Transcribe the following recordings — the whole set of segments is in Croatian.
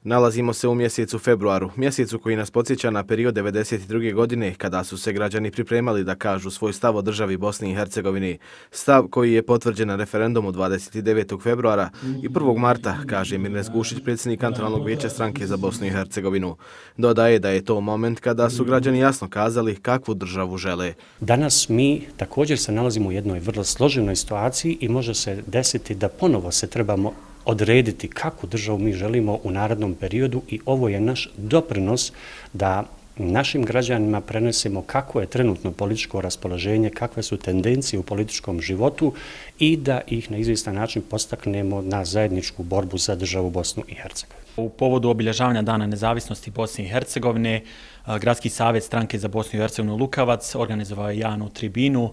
Nalazimo se u mjesecu februaru, mjesecu koji nas podsjeća na period 1992. godine kada su se građani pripremali da kažu svoj stav o državi Bosni i Hercegovini. Stav koji je potvrđen na referendumu 29. februara i 1. marta, kaže Mirnes Gušić, predsjednik kantonalnog vijeća stranke za Bosnu i Hercegovinu. Dodaje da je to moment kada su građani jasno kazali kakvu državu žele. Danas mi također se nalazimo u jednoj vrlo složenoj situaciji i može se desiti da ponovo se trebamo odrediti kakvu državu mi želimo u narednom periodu i ovo je naš doprinos da našim građanima prenesemo kako je trenutno političko raspoloženje, kakve su tendencije u političkom životu i da ih na izvjestan način postaknemo na zajedničku borbu za državu Bosnu i Hercegovinu. U povodu obilježavanja Dana nezavisnosti Bosne i Hercegovine, Gradski savjet stranke za Bosnu i Hercegovinu Lukavac organizovao je javnu tribinu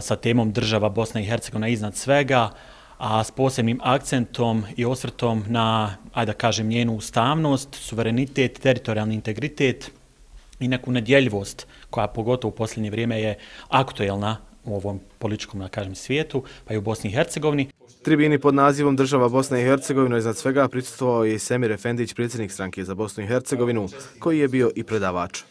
sa temom Država Bosna i Hercegovina iznad svega, a s posebnim akcentom i osvrtom na, ajde da kažem, njenu ustavnost, suverenitet, teritorijalni integritet i neku nedjeljivost koja pogotovo u posljednje vrijeme je aktuelna u ovom političkom, da kažem, svijetu, pa i u Bosni i Hercegovini. Tribini pod nazivom Država Bosna i Hercegovina iznad svega prisustvovao je i Semir Efendić, predsjednik stranke za Bosnu i Hercegovinu, koji je bio i predavač.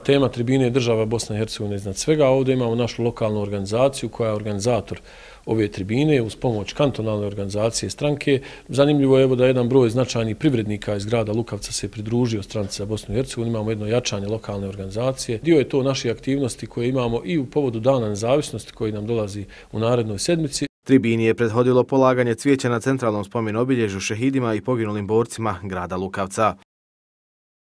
Tema tribine je Država Bosna i Hercegovina iznad svega. Ovdje imamo našu lokalnu organizaciju koja je organizator ove tribine uz pomoć kantonalne organizacije stranke. Zanimljivo je da jedan broj značajnih privrednika iz grada Lukavca se pridružio stranci za Bosnu i Hercegovinu. Imamo jedno jačanje lokalne organizacije. Dio je to naših aktivnosti koje imamo i u povodu Dana nezavisnosti koji nam dolazi u narednoj sedmici. Tribini je prethodilo polaganje cvijeća na centralnom spomen obilježju šehidima i poginulim borcima grada Lukavca.